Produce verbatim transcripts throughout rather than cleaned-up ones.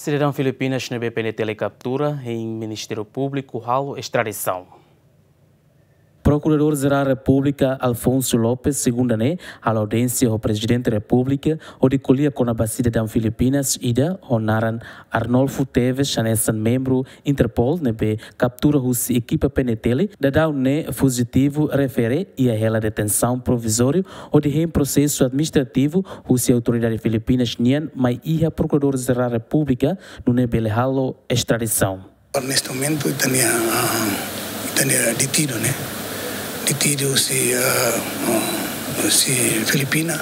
Sidadaun Filipinas ne'ebé P N T L kaptura, hein Ministériu Públiku halo estradisaun. Prokuradór Jerál Repúblika Alfonso Lopes, segunda ne'e, halo audiénsia ho Prezidente Repúblika, hodi ko'alia kona-ba sidadaun Filipinas ida ho naran Arnolfo Teves, hanesan membru Interpol ne'ebé kaptura husi ekipa P N T L, daudaun ne'e fujitivu refere iha hela detensaun provizóriu hodi hein prosesu administrativu husi autoridade Filipinas nian mai iha Prokuradór Jerál Repúblika, nune'e bele halo estradisaun. Neste momento, ita-nia, ah, ita-nia detidu, ne'e? Detidu husi, ah, ah, husi Filipina,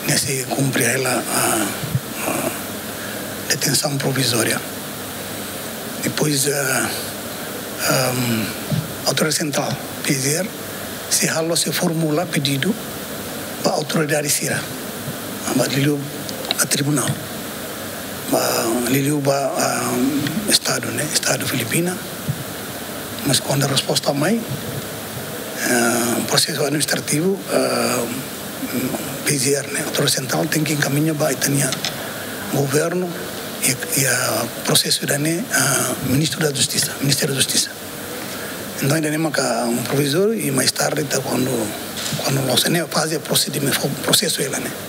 ne'e sei kumpre hela, ah, ah, detensaun provizória. Depois, ah, ahm, Autoridade Sentrál, P J R, sei halo, sei formula pedidu ba autoridade sira, ba liuliu ba tribunál, ba liuliu ba, ah, Estadu, ne'e, Estadu Filipina. Mas kuandu resposta mai, ah, prosesu administrativu, ah, P J R, ne'e, Autoridade Sentrál tenke enkamiña ba ita-nia governu i, i, ah, prosesu ida-ne'e, ah, Ministru da Justisa, Ministériu da Justisa. Entaun, ida-ne'e maka um provizóriu i mais tarde ita kuandu, kuandu loos ne'e faze prosedimentu, prosesu hela ne'e.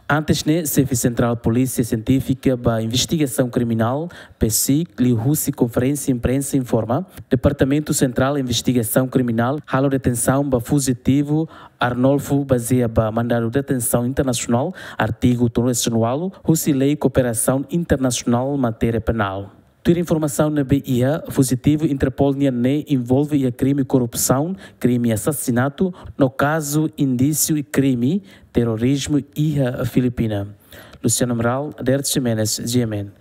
Antes ne'e, xefe sentrál Polísia Sientífika ba Investigasaun Kriminál, PSIC, liuhusi konferénsia imprensa informa, Departamentu Sentrál Investigasaun Kriminál halo detensaun ba fujitivu Arnolfo bazeia ba mandadu detensaun internasionál, artigu tolunulu-resin-ualu, husi Lei Kooperasaun Internasionál Matéria Penál. Tuir informasaun ne'ebé iha, fujitivu Interpol nian ne'e envolve iha krime korrupsaun, krime asasinatu, no kazu indísiu krime terorizmu iha Filipina. Luciano Amaral, Derek Ximenes, G M N.